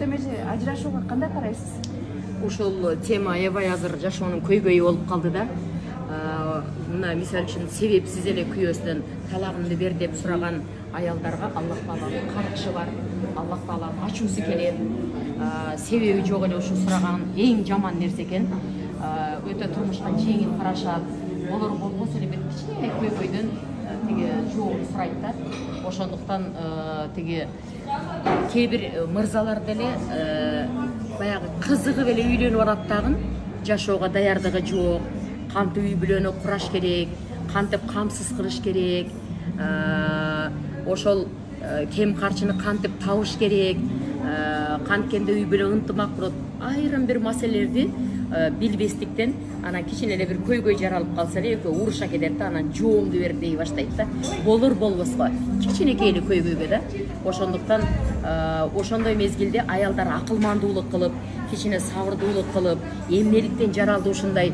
эже ажырашууга кандай карайсыз? Ушул тема аябай азыр жашоонун көйгөйү болуп калды да. Мына мисалы үчүн себепсиз эле күйөөсүнөн талагымды бер деп сураган аялдарга Аллах Тааланын каргышы бар. Аллах Таала ачуусу келет. Себеби жок эле ушу сураган эң жаман нерсе экен. Өтө турмушка жеңил карашат. Болор болбосо эле бир кичине көйгөйдөн тиги жообун сурайт да. Ошондуктан тиги кээ бир мырзалар деле баягы кызыгып эле үйлөнүп алат дагы, жашоого даярдыгы жок. Кантип үй бүлөнү кураш керек, кантип камсыз кылыш керек, ошол кем карчыны кантип табыш керек, канткенде үй бүлө ынтымак болот. Айрым бир маселелерди билбестиктен анан кичине эле бир көйгөй жаралып калса эле экөө уруша кетет да, анан жоомду бер дей баштайт да. Болор болбоско кичинекей эле көйгөйгө да. Ошондуктан ошондой мезгилде аялдар акылмандуулук кылып, кичине сабырдуулук кылып, эмнеликтен жаралды ушундай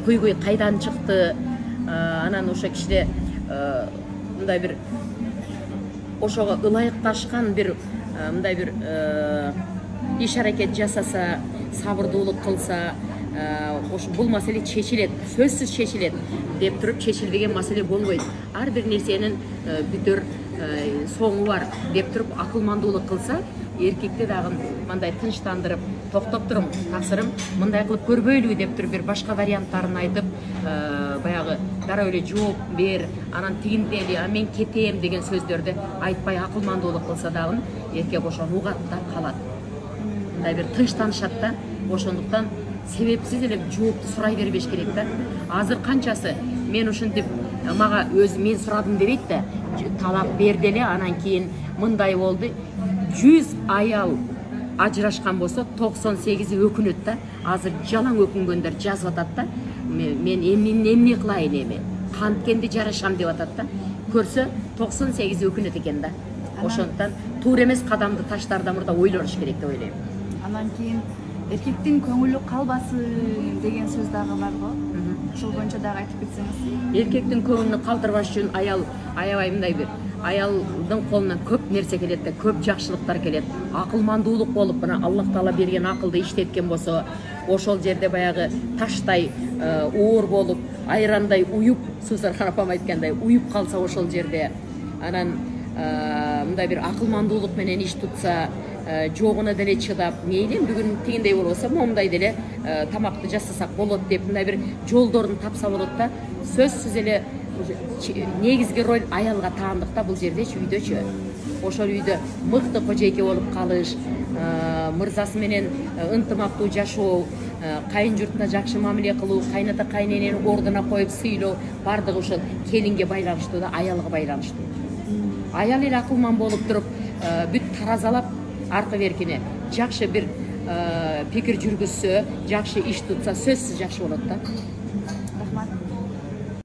көйгөй кайдан чыкты, анан ошо кичине мындай бир ошого ылайыкташкан бир мындай бир иш аракет жасаса, сабырдуулук кылса, бул маселе чечилет, сөзсүз чечилет деп туруп чечилбеген маселе болбойт. Ар бир нерсенин бүтөр соңу бар деп туруп акылмандуулук кылса, эркекти дагы мындай тынчтандырып, токтоп турум, таксырым мындай кылып көрбөйлүбү деп туруп бир башка варианттарын айтып, баягы дароо эле жооп бер, анан тигиндели, мен кетем деген сөздөрдү айтпай акылмандуулук кылса дагы эркек ошону угат да калат. Мындай бир тынчтанышат да. Ошондуктан себепсиз эле жоопту сурай бербеш керек да. Азыр канчасы мен ушинтип мага өзү мен сурадым дебейт да, талак берди эле, анан кийин мындай болду. 100 аял ажырашкан болсо 98-и өкүнөт да. Азыр жалаң өкүнгөндөр жазып атат да. Мен эмне кылайын эми? Канткенди жарашам деп атат да. Көрсө 98-и өкүнөт экен да. Ошондуктан туура эмес кадамды таштаардан мурда ойлош керек деп ойлойм. Анан кийин эркектин көңүлү калбасын деген сөз дагы бар го. Ошол боюнча дагы айтып кетсеңиз. Эркектин көңүлүн калтырбаш үчүн аял аябай мындай бир аялдын колунан көп нерсе келет да, көп жакшылыктар келет. Акылмандуулук болуп, мына Аллах Таала берген акылды иштеткен болсо, ошол жерде баягы таштай оор болуп, айрандай уюп, Сусархан апам айткандай, уюп калса ошол жерде, анан мындай бир акылмандуулук менен иш тутса, жогуна деле чыдап, мейли бүгүн тигиндей болбосо момундай деле тамакты жасасак болот деп мындай бир жолдорун тапса болот да. Сөзсүз эле негизги роль аялга таандык да бул жердечи, үйдөчү. Ошол үйдө мыкты кожойке болуп калыш, мырзасы менен ынтымактуу жашоо, кайын журтуна жакшы мамиле кылуу, кайната кайненени ордуна коюп сыйлоо, бардыгы ошол келинге байланыштуу да, аялга байланыштуу. Аял эле акылман болуп туруп, бүт таразалап аркы беркине жакшы бир пикир жүргүзсө, жакшы иш тутса, сөзсүз жакшы болот да.